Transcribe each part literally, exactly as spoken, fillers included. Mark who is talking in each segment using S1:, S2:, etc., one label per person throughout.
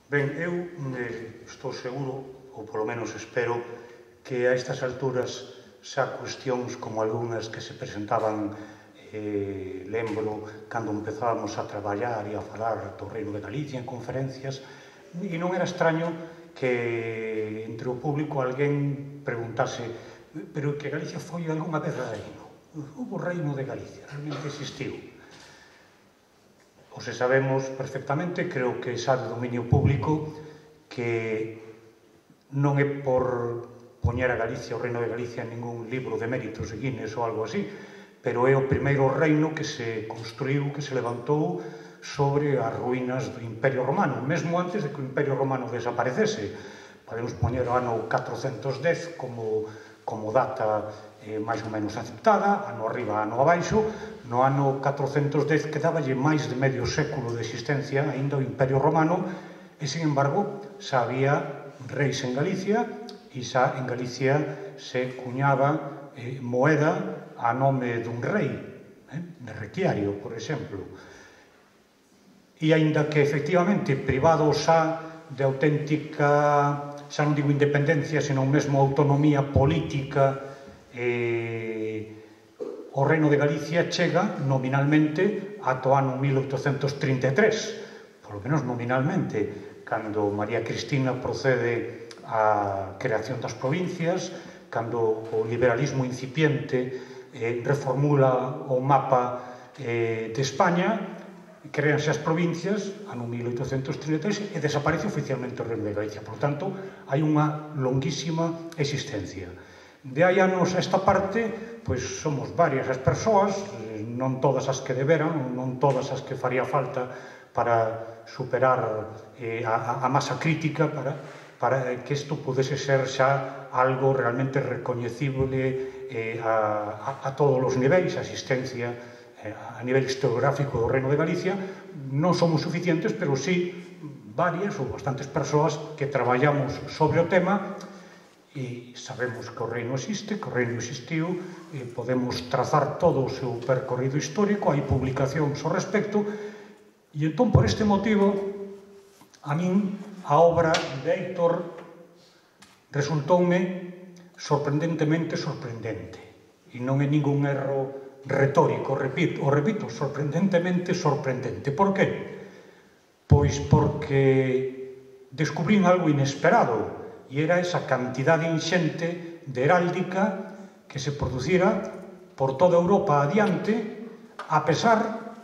S1: Ben, eu eh, estou seguro, ou polo menos espero, que a estas alturas xa cuestións como algunhas que se presentaban, eh, lembro, cando empezábamos a traballar e a falar do Reino de Galicia en conferencias, e non era extraño que entre o público alguén preguntase pero que Galicia foi algunha vez reino. Hubo Reino de Galicia, realmente existiu. O se sabemos perfectamente, creo que xa de dominio público, que non é por poñer a Galicia, o Reino de Galicia, en ningún libro de méritos de Guinness ou algo así, pero é o primeiro reino que se construiu, que se levantou sobre as ruínas do Imperio Romano, mesmo antes de que o Imperio Romano desaparecese. Podemos poñer o ano catrocentos dez como, como data eh, máis ou menos aceptada, ano arriba, ano abaixo. No ano catrocentos dez quedáballe máis de medio século de existencia aínda o Imperio Romano e, sin embargo, xa había reis en Galicia e xa en Galicia se cuñaba eh, moeda a nome dun rei, eh, de Requiario, por exemplo. E aínda que, efectivamente, privado xa de auténtica, xa non digo independencia, senón mesmo autonomía política, eh, o Reino de Galicia chega nominalmente ata o ano mil oitocentos trinta e tres, polo menos nominalmente, cando María Cristina procede á creación das provincias, cando o liberalismo incipiente eh, reformula o mapa eh, de España, créanse as provincias, ano mil oitocentos trinta e tres, e desaparece oficialmente o Reino de Galicia. Por tanto, hai unha longuísima existencia. De hai anos a esta parte, pois somos varias as persoas, non todas as que deberan, non todas as que faría falta para superar eh, a, a masa crítica, para, para que isto pudese ser xa algo realmente recoñecible eh, a, a, a todos os niveis, a asistencia eh, a nivel historiográfico do Reino de Galicia. Non somos suficientes, pero sí varias ou bastantes persoas que traballamos sobre o tema e sabemos que o reino existe, que o reino existiu, e podemos trazar todo o seu percorrido histórico, hai publicacións ao respecto, e entón, por este motivo, a min a obra de Héctor resultoume sorprendentemente sorprendente, e non é ningún erro retórico, repito, o repito, sorprendentemente sorprendente. Por que? Pois porque descubrín algo inesperado, e era esa cantidade inxente de heráldica que se producira por toda Europa adiante, a pesar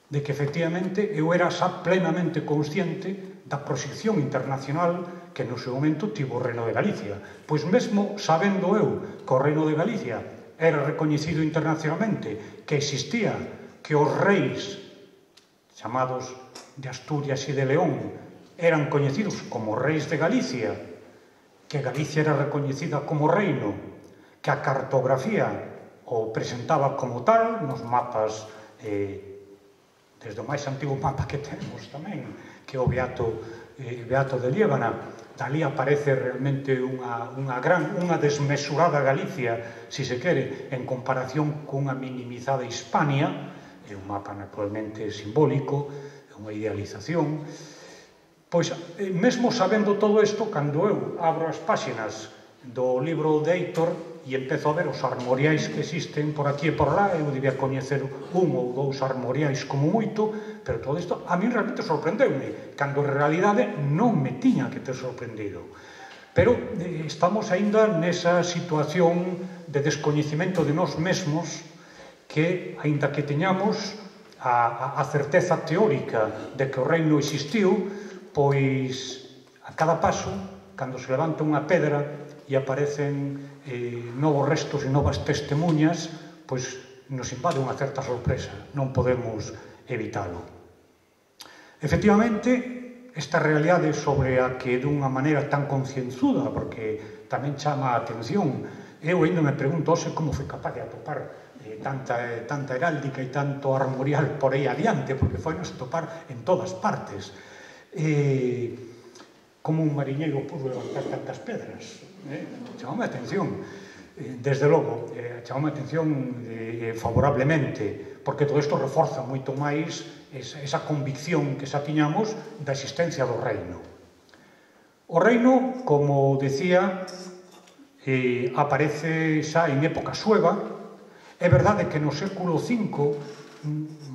S1: de que, efectivamente, eu era xa plenamente consciente da proxección internacional que no seu momento tivo o Reino de Galicia. Pois mesmo sabendo eu que o Reino de Galicia era recoñecido internacionalmente, que existía, que os reis chamados de Asturias e de León eran coñecidos como reis de Galicia, que Galicia era recoñecida como reino, que a cartografía o presentaba como tal nos mapas, eh, desde o máis antigo mapa que temos tamén, que é o Beato, eh, Beato de Liébana. Dali aparece realmente unha, unha gran, unha desmesurada Galicia, si se quere, en comparación cunha minimizada Hispania. É un mapa naturalmente simbólico, é unha idealización. Pois, mesmo sabendo todo isto, cando eu abro as páxinas do libro de Héctor e empezo a ver os armoriais que existen por aquí e por lá, eu debía coñecer un ou dous armoriais como moito, pero todo isto a mí realmente sorprendeume, cando en realidade non me tiña que ter sorprendido. Pero eh, estamos aínda nesa situación de descoñecimento de nós mesmos que, aínda que teñamos a, a, a certeza teórica de que o reino existiu, pois a cada paso, cando se levanta unha pedra e aparecen eh, novos restos e novas testemunhas, pois nos invade unha certa sorpresa, non podemos evitalo. Efectivamente, esta realidade sobre a que dunha maneira tan concienzuda, porque tamén chama a atención, eu ainda me pregunto hoxe como foi capaz de atopar eh, tanta, eh, tanta heráldica e tanto armorial por aí adiante, porque foi nos topar en todas partes. Eh, como un mariñeiro pudo levantar tantas pedras, eh? chamame a atención, eh, desde logo, eh, chamame a atención eh, favorablemente, porque todo isto reforza moito máis esa convicción que xa tiñamos da existencia do reino. O reino, como decía, eh, aparece xa en época sueva. É verdade que no século cinco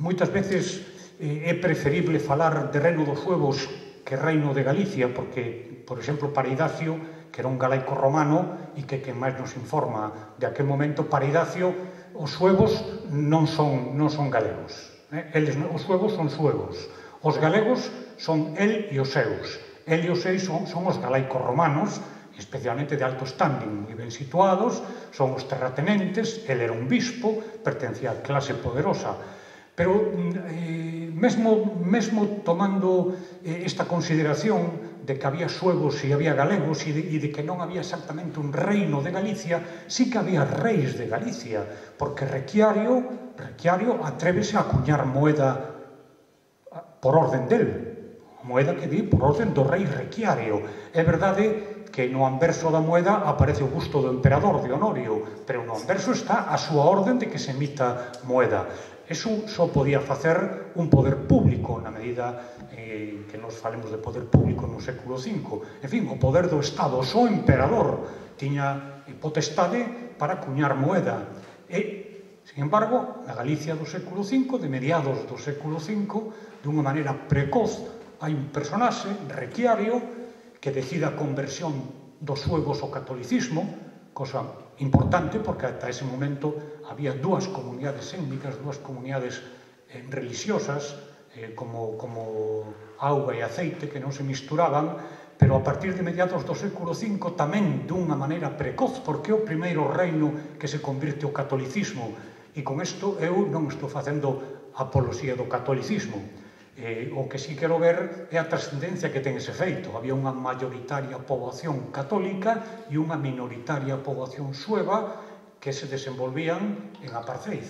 S1: moitas veces eh, é preferible falar de reino dos suevos que reino de Galicia, porque, por exemplo, para Idacio, que era un galaico romano e que quen máis nos informa de aquel momento, para Idacio os suevos non son, non son galegos. Eh? Eles, os suevos son suevos. Os galegos son el e os seus. El e os seus son, son os galaicos romanos, especialmente de alto standing, moi ben situados, son os terratenentes, el era un bispo, pertencía á clase poderosa. Pero, eh, mesmo, mesmo tomando eh, esta consideración de que había suevos e había galegos e de, e de que non había exactamente un reino de Galicia, sí que había reis de Galicia, porque Requiario, Requiario atrévese a acuñar moeda por orden del, moeda que di por orden do rei Requiario. É verdade que no anverso da moeda aparece o busto do emperador, de Honorio, pero no anverso está a súa orden de que se emita moeda. Eso só podía facer un poder público, na medida eh, que nos falemos de poder público no século cinco. En fin, o poder do Estado, o só emperador tiña potestade para acuñar moeda. E, sin embargo, na Galicia do século cinco, de mediados do século cinco, dunha maneira precoz, hai un personaxe, Requiario, que decide a conversión dos suevos ao catolicismo, cosa importante porque ata ese momento había dúas comunidades étnicas, dúas comunidades eh, religiosas, eh, como, como auga e aceite, que non se misturaban, pero a partir de mediados do século cinco tamén dunha maneira precoz, porque é o primeiro reino que se convirte ao catolicismo. E con isto eu non estou facendo apoloxía do catolicismo. Eh, o que sí quero ver é a trascendencia que ten ese feito. Había unha mayoritaria poboación católica e unha minoritaria poboación sueva que se desenvolvían en apartheid.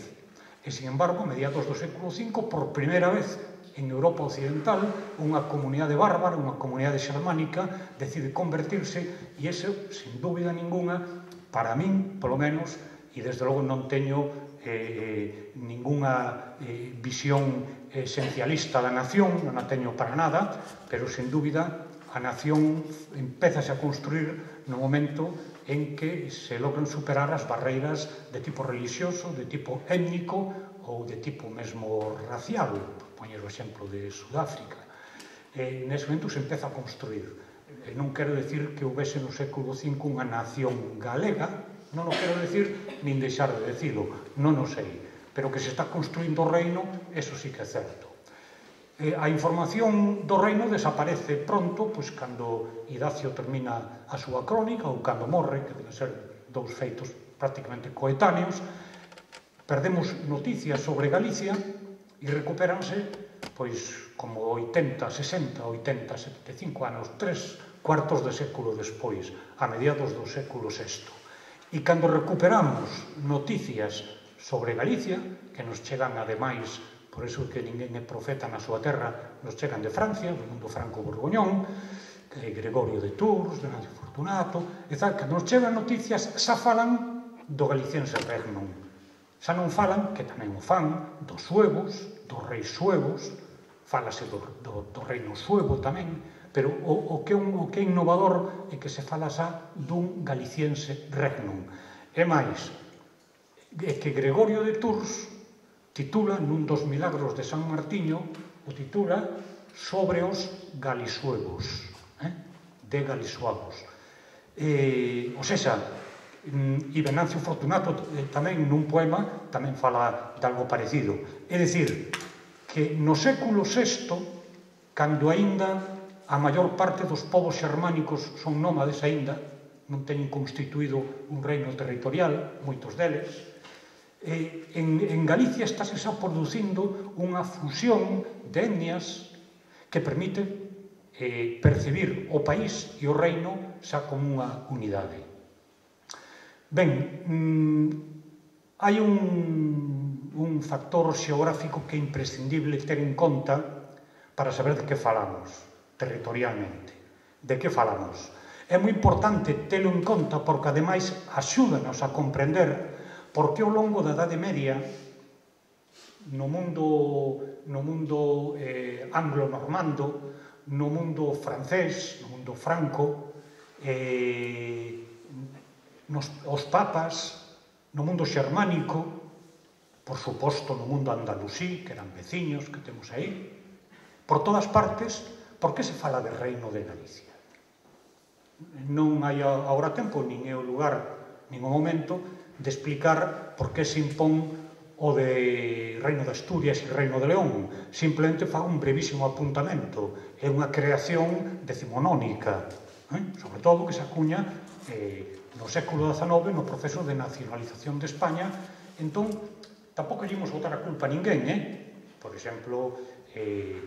S1: E, sin embargo, a mediados do século cinco, por primeira vez en Europa Occidental, unha comunidade bárbara, unha comunidade xermánica, decide convertirse, e ese, sin dúbida ninguna, para min, polo menos, e desde logo non teño eh, ninguna eh, visión esencialista da nación, non a teño para nada, pero, sin dúbida, a nación empezase a construir no momento en que se logran superar as barreiras de tipo religioso, de tipo étnico ou de tipo mesmo racial, por poñer o exemplo de Sudáfrica. E nese momento se empeza a construir. E non quero decir que houvese no século cinco unha nación galega, non o quero decir, nin deixar de decilo, non o sei, pero que se está construindo o reino, eso sí que é certo. Eh, a información do reino desaparece pronto, pois cando Idacio termina a súa crónica ou cando morre, que deben ser dous feitos prácticamente coetáneos. Perdemos noticias sobre Galicia e recupéranse, pois, como oitenta, sesenta, oitenta, setenta e cinco anos, tres cuartos de século despois, a mediados do século sexto. E cando recuperamos noticias sobre Galicia, que nos chegan, ademais, por iso que ninguén é profeta na súa terra, nos chegan de Francia, do mundo franco-borgoñón, que é Gregorio de Tours, Venancio Fortunato, e tal, que nos chegan noticias, xa falan do galiciense regnum. Xa non falan, que tamén o fan, dos suevos, dos reis suevos, falase do, do, do reino suevo tamén, pero o, o, que un, o que é innovador é que se fala xa dun galiciense regnum. E máis, é que Gregorio de Tours titula, nun dos milagros de San Martiño, o titula sobre os galisuevos, eh? de galisuavos. Eh, o sexa, e Venancio Fortunato eh, tamén nun poema tamén fala de algo parecido. É dicir, que no século sexto, cando aínda a maior parte dos povos xermánicos son nómades aínda, non teñen constituído un reino territorial, moitos deles, Eh, en, en Galicia estáse xa producindo unha fusión de etnias que permite eh, percibir o país e o reino xa como unha unidade. Ben, mm, hai un, un factor xeográfico que é imprescindible ter en conta para saber de que falamos territorialmente. De que falamos? É moi importante telo en conta porque, ademais, axúdanos a comprender porque ao longo da Idade Media no mundo, no mundo eh, anglo-normando, no mundo francés, no mundo franco, eh, nos, os papas, no mundo xermánico, por suposto no mundo andalusí, que eran veciños que temos aí, por todas partes. Por que se fala de Reino de Galicia? Non hai agora tempo, nin é o lugar, nin o momento, de explicar por que se impón o de Reino de Asturias e Reino de León. Simplemente fago un brevísimo apuntamento. É unha creación decimonónica, eh? sobre todo que se acuña eh, no século dezanove no proceso de nacionalización de España. Entón, tampouco lle imos botar a culpa a ninguén, eh? Por exemplo, eh,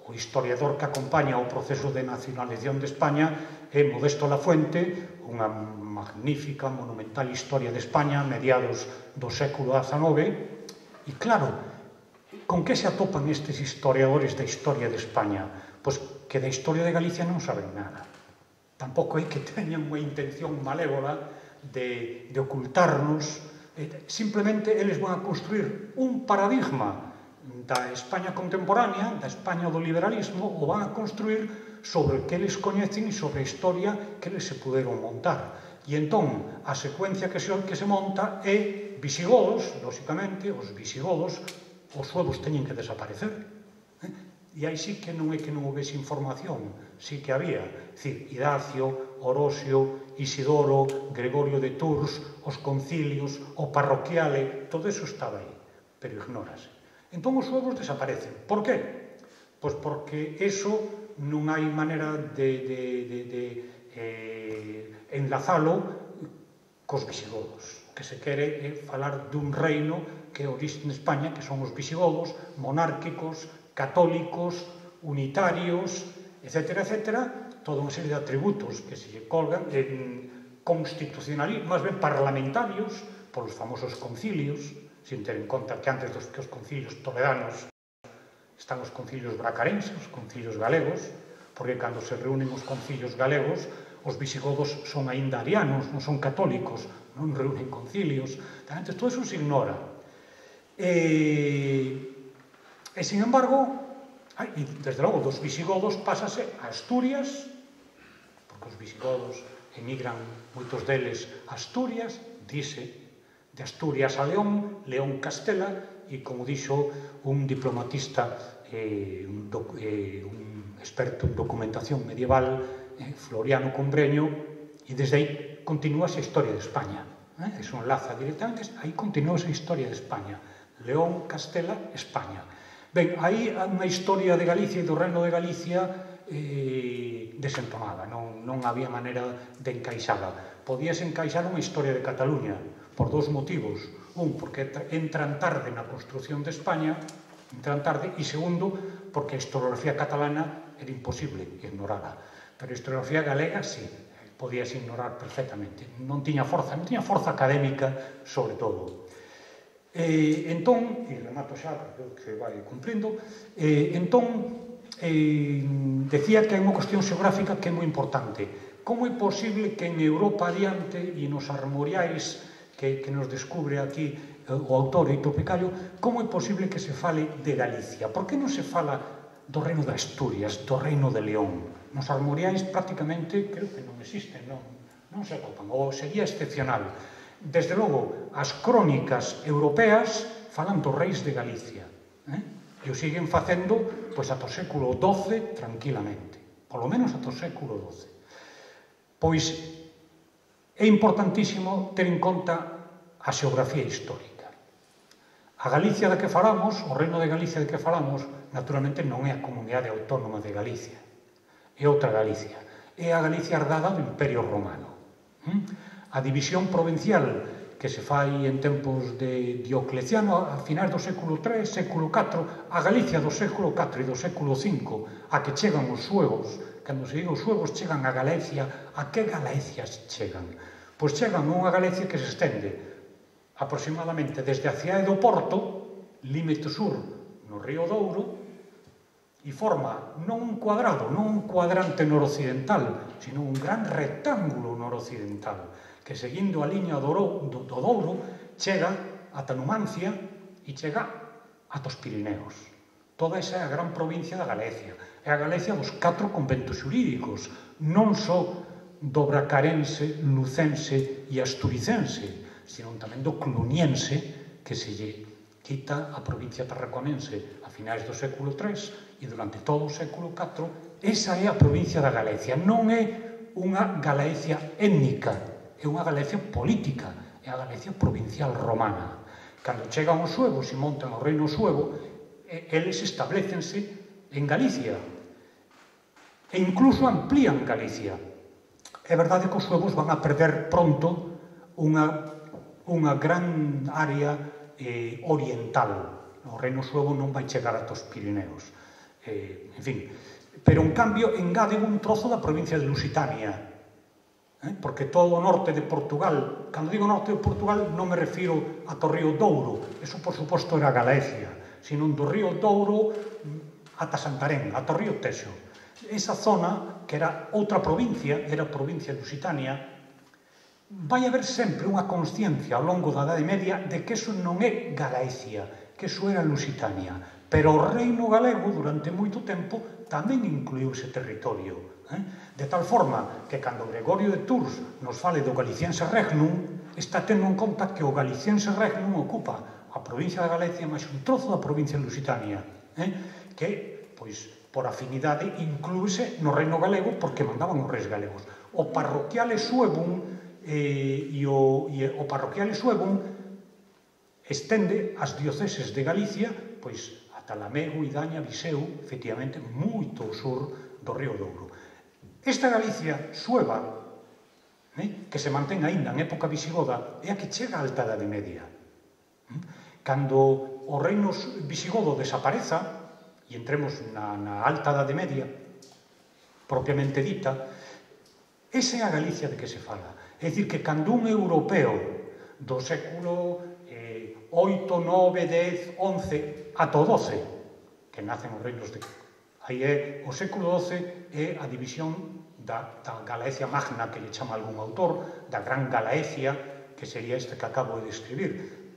S1: o historiador que acompaña o proceso de nacionalización de España é Modesto Lafuente, unha magnífica, monumental historia de España, mediados do século dezanove, e claro, con que se atopan estes historiadores da historia de España? Pois que da historia de Galicia non saben nada. Tampouco é que teñan unha intención malévola de, de ocultarnos. Simplemente eles van a construir un paradigma da España contemporánea, da España do liberalismo, o van a construir sobre o que eles coñecen e sobre a historia que eles se puderon montar. E entón, a secuencia que se, que se monta é visigodos, lóxicamente, os visigodos, os suevos teñen que desaparecer. Eh? E aí sí que non é que non houvese información, sí que había. É dicir, Idacio, Orosio, Isidoro, Gregorio de Tours, os concilios, o parroquiale, todo eso estaba aí, pero ignórase. Entón os suevos desaparecen. Por que? Pois porque eso non hai maneira de, de, de, de eh, enlazalo cos visigodos. O que se quere é falar dun reino que é orixe en España, que son os visigodos, monárquicos, católicos, unitarios, etcétera, etcétera, toda unha serie de atributos que se colgan en constitucionalistas, máis ben parlamentarios, polos famosos concilios, sin ter en conta que antes dos que os concilios toledanos están os concilios bracarenses, os concilios galegos, porque cando se reúnen os concilios galegos, os visigodos son aínda arianos, non son católicos, non reúnen concilios, antes todo eso se ignora. E, e sin embargo, e desde logo, dos visigodos pásase a Asturias, porque os visigodos emigran, moitos deles, a Asturias, dice, de Asturias a León, León Castela, e como dixo un diplomatista, eh, un, doc, eh, un experto en documentación medieval, eh, Floriano Combreño, e desde aí continúa esa historia de España. Eh? Eso enlaza directamente, aí continúa esa historia de España. León, Castela, España. Ben, aí unha historia de Galicia e do Reino de Galicia eh, desentonada, non, non había maneira de encaixala. Podíase encaixar unha historia de Cataluña, por dous motivos. Un, porque entran tarde na construción de España, entran tarde, e segundo, porque a historiografía catalana era imposible ignorarla. Pero a historiografía galega, sí, podías ignorar perfectamente. Non tiña forza, non tiña forza académica, sobre todo. Eh, entón, e remato xa, porque se vai cumprindo, eh, entón, eh, decía que hai unha cuestión xeográfica que é moi importante. Como é posible que en Europa adiante e nos armoriais Que, que nos descubre aquí eh, o autor Eito Picallo, como é posible que se fale de Galicia? Por que non se fala do reino de Asturias, do reino de León? Nos armoriais prácticamente, creo que non existen, non, non se atopan, ou sería excepcional. Desde logo, as crónicas europeas falan dos reis de Galicia, eh? e o siguen facendo pois, ata o século doce tranquilamente, polo menos ata o século doce. Pois é importantísimo ter en conta a xeografía histórica. A Galicia da que falamos, o reino de Galicia de que falamos, naturalmente non é a comunidade autónoma de Galicia, é outra Galicia, é a Galicia herdada do Imperio Romano. A división provincial que se fai en tempos de Diocleciano a finais do século tres, século catro, a Galicia do século catro e do século cinco, a que chegan os suevos. Cando se diga os suevos chegan a Galicia, a que Galicias chegan? Pois chegan a unha Galicia que se estende aproximadamente desde a cidade do Porto, límite sur no río Douro, e forma non un cuadrado, non un cuadrante noroccidental, sino un gran rectángulo noroccidental, que seguindo a liña do Douro chega ata Numancia e chega ata os Pirineos. Toda esa é a gran provincia da Galicia. É a Galicia dos catro conventos xurídicos, non só do bracarense, lucense e asturicense, sino tamén do cluniense, que se lle quita a provincia tarraconense a finais do século tres e durante todo o século catro. Esa é a provincia da Galicia. Non é unha Galicia étnica, é unha Galicia política, é a Galicia provincial romana. Cando chegan os suevos e montan o reino suevo, eles establecense en Galicia e incluso amplían Galicia. É verdade que os suevos van a perder pronto unha, unha gran área eh, oriental. O reino suevo non vai chegar ata os Pirineos. Eh, en fin, pero en cambio engaden un trozo da provincia de Lusitania, eh? Porque todo o norte de Portugal, cando digo norte de Portugal non me refiro ata o río Douro, eso por suposto era Galicia, sino do río Douro ata Santarém, ata o río Texo. Esa zona, que era outra provincia, era a provincia de Lusitania, vai haber sempre unha consciencia ao longo da Idade Media de que eso non é Galicia, que eso era Lusitania. Pero o reino galego, durante moito tempo, tamén incluiu ese territorio. Eh? De tal forma que, cando Gregorio de Tours nos fale do Galiciense Regnum, está tendo en conta que o Galiciense Regnum ocupa a provincia da Galicia máis un trozo da provincia de Lusitania, eh? que, pois, por afinidade, inclúese no reino galego porque mandaban os reis galegos. O parroquiale suevum eh, e, o, e o parroquiale suevum estende as dioceses de Galicia, pois, ata Lamego, Idaña, Viseu, efectivamente, moito ao sur do río Douro. Esta Galicia sueva, eh, que se mantén aínda en época visigoda, é a que chega á Alta Idade Media. Cando o reino visigodo desapareza e entremos na, na Alta Idade Media, propiamente dita, esa é a Galicia de que se fala. É dicir, que cando un europeo do século eh, oito, nove, dez, once, ata o doce, que nacen os reinos de... Aí é, o século doce é a división da, da Galaecia Magna, que lle chama algún autor, da Gran Galaecia, que sería este que acabo de describir.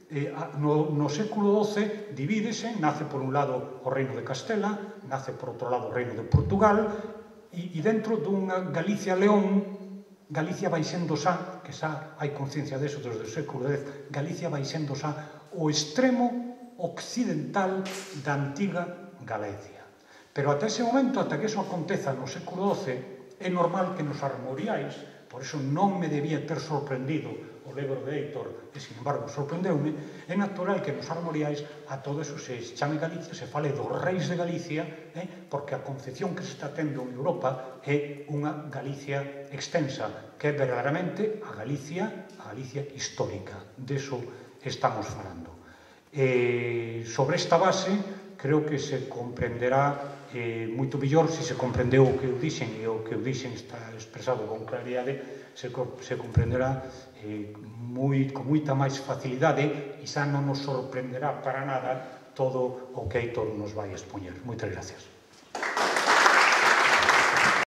S1: Eh, no, no século doce divídese, nace por un lado o reino de Castela, nace por outro lado o reino de Portugal, e, e dentro dunha Galicia-León, Galicia vai sendo xa, que xa hai conciencia deso desde o século dez, Galicia vai sendo xa o extremo occidental da antiga Galicia. Pero ata ese momento, ata que eso aconteza no século doce, é normal que nos armoriais, por iso non me debía ter sorprendido o libro de Heitor, e sin embargo sorprendeume, é natural que nos armoriais a todo eso se chame Galicia, se fale dos reis de Galicia, eh, porque a concepción que se está tendo en Europa é unha Galicia extensa, que é verdadeiramente a Galicia, a Galicia histórica. Deso estamos falando. Eh, sobre esta base, creo que se comprenderá eh, moito mellor, se se comprendeu o que eu dixen, e o que eu dixen está expresado con claridade, se, se comprenderá eh, moi, con moita máis facilidade, e xa non nos sorprenderá para nada todo o que Heitor nos vai expoñer. Moitas gracias.